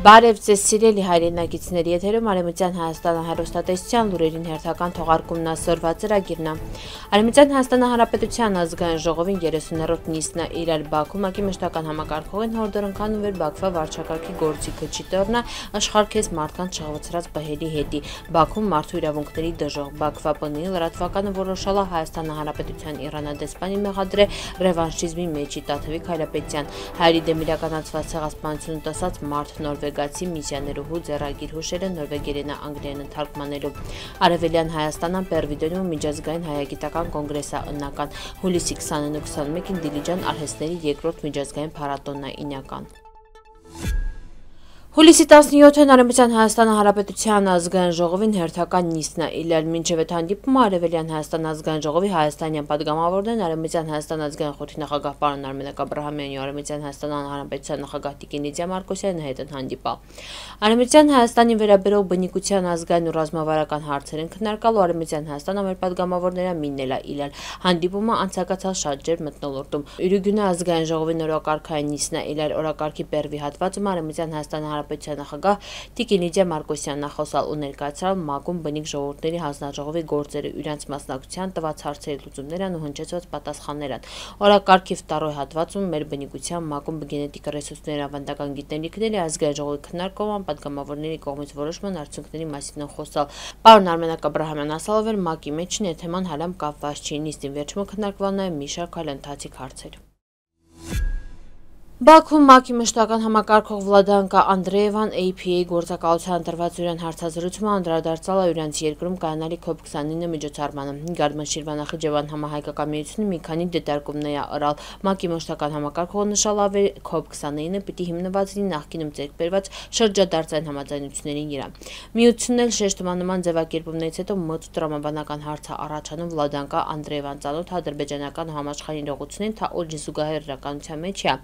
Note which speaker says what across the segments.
Speaker 1: Բարև ձեզ սիրելի հայրենակիցների եթերում Արևմտյան Հայաստանը հեռուստատեսության լուրերին հերթական թողարկումն ասորված ծրագիրն է։ Արևմտյան Հայաստանի Հանրապետության ազգային ժողովին 30-րդ նիստն է իրար Բաքվում ակի մշտական համակարգողին հորդորընկանում էր Բաքվա վարչակարգի գործիքը չտորնա աշխարհքես մարդկանց շահվեցրած բահերի հետի։ Բաքվում մարդու իրավունքների դժող Բաքվա ՊՆ-ի լրատվականը որոշալա Հայաստանի Հանրապետության իրանադեսպանի մեղադրե ռևանշիզմի մեջի Տաթևիկ Հայրապետյան հայերի դեմ իրականացված ցեղասպանություն տեսած մարդ նորվեգացի միսիաներուհու ձեռագիր հուշերը նորվեգերենը անգլերեն թարգմանելու Արևելյան Հայաստանան Պերվիդոնիում միջազգային հայագիտական կոնգրեսը ըննական հուլիսի 20-ին ու 21-ին Դիլիջան արհեստների երկրորդ միջազգային փառատոնն է ինական Հուլիսի 17-ին Արևմտյան Հայաստանի Հանրապետության ազգային ժողովին հերթական նիստն է իլել մինչև այդ հանդիպումը Արևելյան Հայաստան ազգային ժողովի հայաստանյան падգամավորներն Արևմտյան Հայաստան ազգային խորհրդի նախագահ պարոն Արմենակ Աբրահամյանի ու Արևմտյան Հայաստան Հանրապետության նախագահ Տիկին Լիդիա Մարկոսյանի հետ են հանդիպալ։ Արևմտյան Հայաստանի վերաբերող բնիկության ազգային ու ռազմավարական հարցեր են քննարկալու Արևմտյան Հայաստանը մեր падգամավորները միննել է իլել։ Հանդիպումը անցկացած շատ ջերմ մթնոլորտում։ Յուրուգյունե ազգային ժողովի նորակարգային նիստն է իլել օրակարգի բերվի հատվածում Արևմտյան Հայաստանի Հանրապետության նախագահ Տիկին Լիդիա Մարկոսյանն ախոսալ ու ներկայացրալ ՄԱԿ-ում բնիկ ժողովուրդների հանձնաժողովի գործերը իրենց մասնակցության տված հարցերի լուծումներն ու հնչեցված պատասխաններն։ Օրակարգի վտարոյ հատվածում մեր բնիկության ՄԱԿ-ում գենետիկ ռեսուրսների ավանդական գիտելիքների ազգային ժողովի քննարկման падգամավորների կողմից որոշման արդյունքների մասին խոսալ։ Պարոն Արմենակ Աբրահամյանն ասալով էր ՄԱԿ-ի մեջ թեման հալամ կապված չի նիստին վերջում քննարկվել նաև մի շարք այլ ընթացիկ հարցեր։ Բաքվում ՄԱԿ-ի մշտական համակարգող Վլադանկա Անդրեևան APA գործակալության տրված յուրան հարցազրույցում անդրադարձալ է յուրans երկրում կայանալի COP29 միջոցառմանը։ Գարմեն Շիրվան-Նախիջևան համահայկական միությունը մի քանի դիտարկումներ է ըրալ։ ՄԱԿ-ի մշտական համակարգողը նշելով էր COP29-ը պիտի հիմնված լինի նախկինում ձեռք բերված շրջադարձային համաձայնությունների վրա։ Միությունն էլ շեշտմանման ձևակերպումներից հետո մոտ տրամաբանական հարց է առաջանում Վլադանկա Անդրեևան ծանոթ ադրբեջանական ու համաշխարհային իրողություններին, թա օջի զուգահեռ իրականության մեջ է։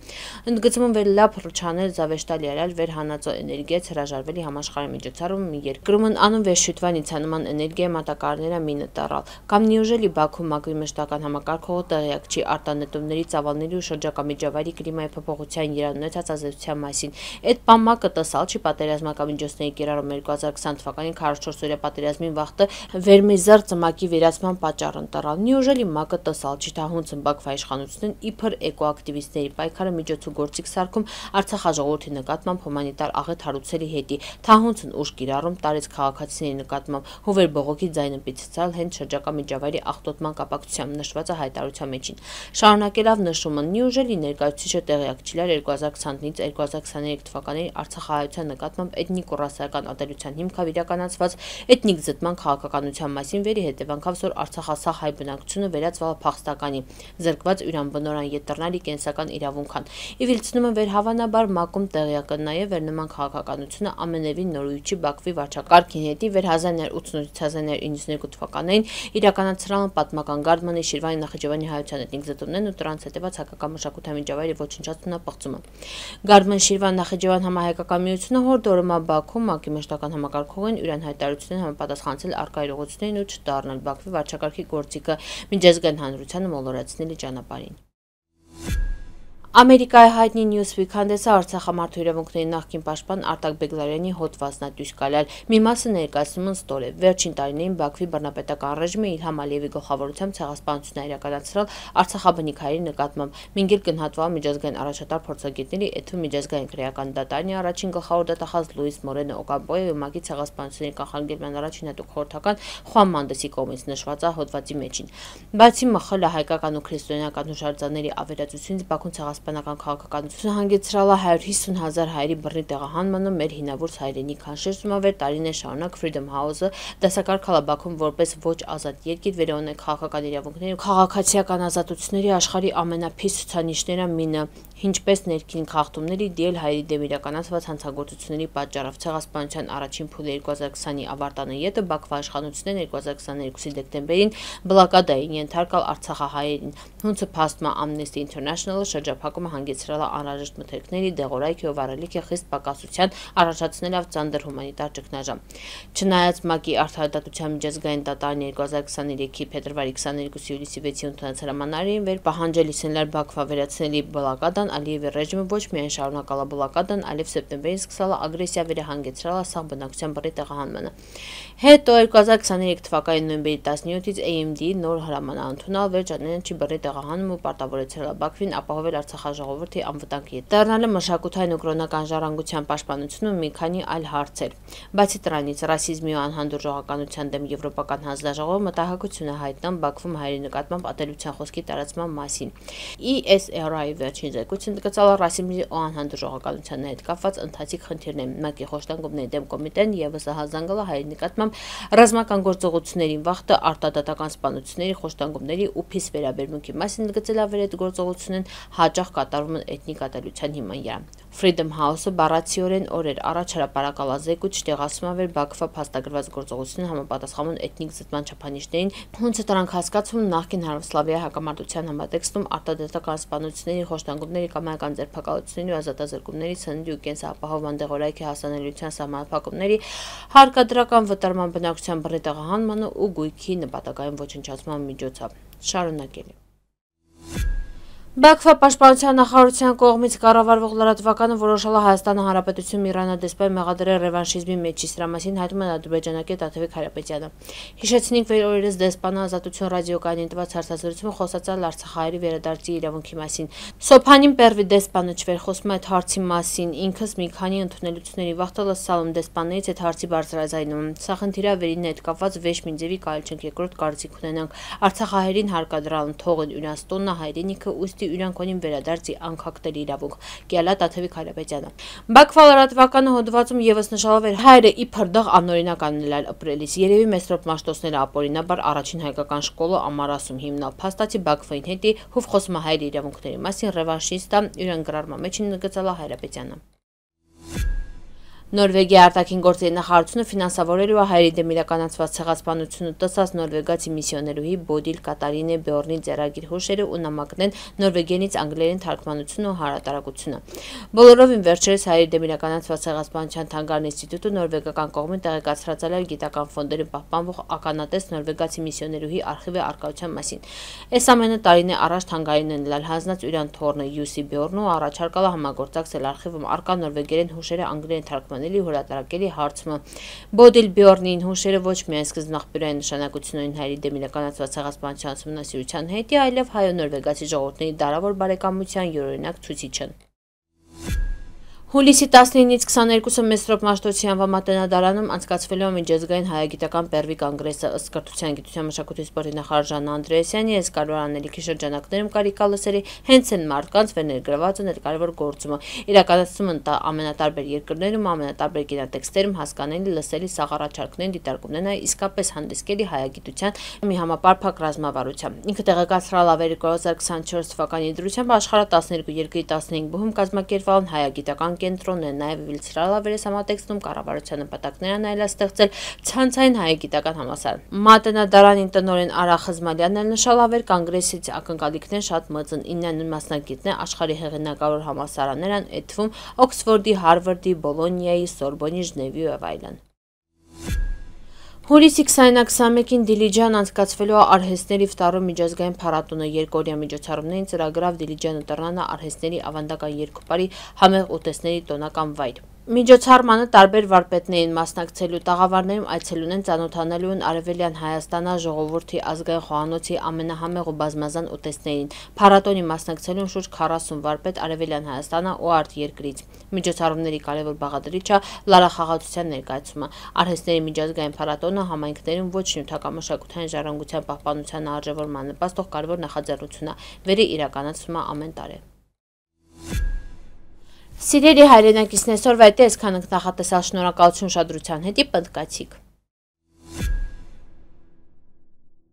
Speaker 1: Ընդգծում վեր լապ ռչանել զավեշտալի արալ վեր հանածո էներգիայից հրաժարվելի համաշխարհային միջոցառում երկրումն անում վեր շուտվան իցանման էներգիա մատակարարները մինը տառալ։ Կամ նիուժելի Բաքվում ՄԱԿ-ի մշտական համակարգողը տեղյակ չի արտանետումների ծավալների ու շրջակա միջավայրի կլիմայի փոփոխության իրանունեցած ազդեցության մասին։ Այդ ՄԱԿ-ը տսալ չի պատերազմական միջոցների կիրառում 2020 թվականի 44-օրյա պատերազմին վախտը վերմեզար ծմակի վերացման պատճառն տռալ։ Նիուժելի ՄԱԿ-ը տսալ չի թահունց Բաքվա իշխանությունն իբր էկոակտիվիստների պայքարը միջոցու գործիք սարքում Արցախ ժողովրդի նկատմամբ հումանիտար աղետ հարուցելի հետի թահունցն ուժ կիրառում տարեց քաղաքացիների նկատմամբ հովեր բողոքի ձայնը պիցցալ հենց շրջակա միջավայրի աղտոտման կապակցությամբ նշված է հայտարարության մեջին։ Շարունակելով նշումը նիուժելի ներկայացուցիչը տեղյակ չլար 2020-ից 2023 թվականների Արցախահայության նկատմամբ էթնիկ ու ռասայական ատելության հիմքով իրականացված էթնիկ զտման քաղաքականության մասին վերի հետևանքով որ Արցախասահ հայ բնակչությունը վերածվել փախստականի զրկված յուրանբնորան ետրնալի կենսական իրավունքան։ Իվիլցնումը վեր հավանաբար ՄԱԿ-ում տեղյակ է նաև վեր նման քաղաքականությունը ամենևին նորույթի Բաքվի վարչակարգին հետի վեր 1988-1992 թվականներին իրականացրան պատմական Գարմանի Շիրվանի Նախիջևանի հայության էթնիկ զտումներն ու դրանց հետևած հայկական մշակութային միջավայրի ոչնչացումն պղծումը։ Գարմեն Շիրվան Նախիջևան համահայկական միությունը հորդորում է Բաքվում ՄԱԿ-ի մշտական համակարգողին յուրան հայտարարություններին համապատասխանեցել առկա իրողություններին ու չդառնալ Բաքվի վարչակարգի գործիքը միջազգային հանրությանը մոլորեցնելի ճանապարհին։ Ամերիկայի հայտնի Newsweek հանդեսը Արցախամարտու իրավունքների նախկին պաշտպան Արտակ Բեգլարյանի հոդվածն է դույս գալալ։ Մի մասը ներկայացնում են ստոր է։ Վերջին տարիներին Բաքվի բռնապետական ռեժիմը Իլհամ Ալիևի գլխավորությամբ ցեղասպանություն է իրականացրել արցախաբնիկ հայերի նկատմամբ։ Մինգիր կնահատվել միջազգային առաջատար փորձագետների Էթու միջազգային քրեական դատարանի առաջին գլխավոր դատախազ Լուիս Մորենո Օկամպոյի ու ՄԱԿ-ի ցեղասպանությունների կանխարգելման առաջին հատուկ խորհրդական Խուան Մանդեսի կողմից նշված է հոդվածի մեջին։ Բացի ՄԽԼ հայկական ու քրիստոնեական հուշարձանների ավերածությունից Բաքուն ցեղասպանական քաղաքականությունը հանգեցրել է 150,000 հայերի բռնի տեղահանմանը մեր հինավուրց հայրենիք քանշեցնում է վեր տարիներ շարունակ Freedom House-ը դասակարգալ Բաքվում որպես ոչ ազատ երկիր վերոնե քաղաքական իրավունքների ու քաղաքացիական ազատությունների աշխարհի ամենափիս ցուցանիշները մինը ինչպես ներքին խախտումների դիել հայերի դեմ իրականացված հանցագործությունների պատճառով ցեղասպանության առաջին փուլը 2020-ի ավարտանը յետը Բաքվա իշխանությունները 2022-ի դեկտեմբերին բլոկադային ենթարկալ արցախահայերին։ Հունցը փաստմա Amnesty International-ը շրջափակումը հանգեցրել է անհրաժեշտ մթերքների դեղորայքի ու վարելիքի խիստ պակասության առաջացնելով ծանր հումանիտար ճգնաժամ։ Չնայած ՄԱԿ-ի արդարադատության միջազգային դատարանի 2023-ի փետրվարի 22-ի հուլիսի 6-ի ընդունած հրամանարին վեր պահանջել իսենլար Բաքվա վերացնելի բլոկադան Իլհամ Ալիևի ռեժիմը ոչ միայն շարունակալ է բլոկադան, այլև սեպտեմբերին սկսել է ագրեսիա վերահանգեցրել սաղ բնակչության բռի տեղահանմանը։ Հետո 2023 թվականի նոյեմբերի 17-ից AMD-ի նոր հրաման ընդունել վերջանանչի բռի տեղահանումը ու պարտավորեցրել Բաքվին ապահովել Արցախաժողովրդի անվտանգ դառնալը, մշակութային ու կրոնական ժառանգության պաշտպանությունը ու մի քանի այլ հարցեր։ Բացի դրանից, ռասիզմի ու անհանդուրժողականության դեմ Եվրոպական հանձնաժողովը մտահոգություն է հայտնում Բաքվում հայերի նկատմամբ ատելության խոսքի տարածման մասին։ ESRI-ի վերջին զեկույցը ընդգծել է ռասիզմի ու անհանդուրժողականության հետ կապված ընթացիկ խնդիրներ։ ՄԱԿ-ի խոշտանգումների դեմ կոմիտեն ևս հազանգել է հայերի նկատմամբ ռազմական գործողությունների վախտը, արտադատական սպանությունների, խոշտանգումների ու փիս վերաբերմունքի մասին ընդգծել է այդ գործողություններն հաճախ կատարվում են էթնիկ ատելության հիման վրա։ Freedom House-ը բառացիորեն օրեր առաջ հրապարակել զեկույց տեղասում էր Բաքվա փաստագրված գործողություններին համապատասխանուն էթնիկ զտման չափանիշներին, ոնց է դրանք հասկացվում նախկին Հարավսլավիայի հակամարտության համատեքստում արտադատական սպանությունների, խոշտանգումների, կամայական ձերբակալությունների ու ազատազրկումների, սննդի ու կենսապահովման դեղորայքի հասանելիության սահմանափակումների, հարկադրական վտարման, բնակչության բռի տեղահանման ու գույքի նպատակային ոչնչացման միջոցով։ Շարունակելի Բաքվա պաշտպանության նախարարության կողմից կառավարվող լրատվականը որոշել է Հայաստանի Հանրապետությունում Իրանադեսպան մեղադրել ռևանշիզմի մեջից դրա մասին հայտնում է ադրբեջանակի Տաթևիկ Հայրապետյանը։ Հիշեցնենք, որ օրերս դեսպանը Ազատություն ռադիոկայանին տված հարցազրույցում խոսացել արցախահայերի վերադարձի իրավունքի մասին։ Սոփանին Պերվի դեսպանը չվերխոսում այդ հարցի մասին, ինքս մի քանի ընդունելությունների վախտել սալում դեսպաններից այդ հարցի բարձրաձայնում։ Սա խնդիր է վերին հետ կապված վեշ Մինձևի կարելի չենք երկրորդ կարծիք ունենանք։ Արցախահայերին հարկադրան թողն իրանց տոննա հայրենիքը ուստի Իրանքոնին վերադարձի անքակտելի իրավունք, կիալա Տաթևիկ Հայրապետյանը։ Բաքվա լրատվականը հոդվածում ևս նշելով էր հայերը իբր դղ անօրինակ անելալ ապրելիս։ Երևի Մեսրոպ Մաշտոցները ապօրինաբար առաջին հայկական շկոլը ամարասում հիմնալ փաստացի Բաքվային հետի հուվ խոսում հայերի իրավունքների մասին ռևանշիստա իրան գրառման մեջ ընդգծել Հայրապետյանը։ Նորվեգիա արտաքին գործերի նախարարությունը ֆինանսավորելու է հայերի դեմ իրականացված ցեղասպանությունը տեսած նորվեգացի միսիոներուհի Բոդիլ Կատարինե Բյորնի ձեռագիր հուշերը ու նամակներն նորվեգերենից անգլերեն թարգմանությունը ու հարատարակությունը։ Բոլորովին վերջերս հայերի դեմ իրականացված ցեղասպանության թանգարան ինստիտուտը նորվեգական կողմին տեղեկացրել է գիտական ֆոնդերում պահպանվող ականատես նորվեգացի միսիոներուհի արխիվի արկայության մասին։ Այս ամենը տարին է առաջ թանգարանին ընելալ հանձնած Յուրան Թորնը Յուսի Բյորնը առաջարկալ է համագործակցել արխիվում արկա նորվեգերեն հուշերը անգլերեն թարգմանելի հրատարակելի հարցումը։ Բոդիլ Բյորնին հուշերը ոչ միայն սկզբնաղբյուրային նշանակություն ունեն հայերի դեմ իրականացված ցեղասպանության ուսումնասիրության հետի, այլև հայո-նորվեգացի ժողովուրդների դարավոր բարեկամության յուրօրինակ ցուցիչ են։ Հուլիսի 19-ից 22-ը Մեսրոպ Մաշտոցի անվան մատենադարանում անցկացվելու է միջազգային հայագիտական Պերվի կոնգրեսը, ըստ կրթության, գիտության, մշակույթի սպորտի նախարար Ժաննա Անդրեասյանի այս կարևոր անելիքի շրջանակներում կարիք լսերի հենց այն մարդկանց վերներգրված են այդ կարևոր գործումը, իրականացում են ամենատարբեր երկրներում, ամենատարբեր կինոտեքստերում հասկանալի, լսելի, սաղառաչարկներն, դիտարկումներն իսկապես հանդիսկելի հայագիտության մի համապարփակ ռազմավարությամբ։ Ինքը տեղեկացրել է 2024 թվականի դրությամբ աշխարհի 12 երկրի 15 բուհում կազմակերպվել են հայագիտական կենտրոններ, նաև վիլցրալավերես համատեքստում կառավարության նպատակներն այլաստեղծել ցանցային հայագիտական համալսարան։ Մատենադարանի տնօրեն Արա Խզմալյանն էլ նշել ավեր կոնգրեսից ակնկալիքներ շատ մեծ են, 9 մասնակիցներ աշխարհի հեղինակավոր համալսարաններ են, այդ թվում Օքսֆորդի, Հարվարդի, Բոլոնիայի, Սորբոնի, Ժնևի եւ այլն։ Հուլիսի 20-21-ին Դիլիջան անցկացվելու է արհեստների վտարում միջազգային փառատոնը երկօրյա միջոցառումներին ծրագրավ Դիլիջանը տրնանը արհեստների ավանդական երկուպարի համեղ ուտեստների տոնական վայր։ Միջոցառմանը տարբեր վարպետներին մասնակցելու տաղավարներում այցելուն են ծանոթանալու են Արևելյան Հայաստանա ժողովրդի ազգային խոհանոցի ամենահամեղ ու բազմազան ուտեստներին։ Փառատոնի մասնակցելուն շուրջ 40 վարպետ Արևելյան Հայաստանա ու արտերկրից։ Միջոցառումների կարևոր բաղադրիչը լարախաղացության ներկայացումը։ Արհեստների միջազգային փառատոնը համայնքներում ոչ նյութական մշակութային ժառանգության պահպանության արժևորման նպաստող կարևոր նախաձեռնություն է, վերի իրականացումը ամեն տարի։ Սիրելի հայրենակիցներ, այսօրվա այդ այսքան ենք նախատեսալ, շնորհակալություն ուշադրության հետի, պնդկացիք։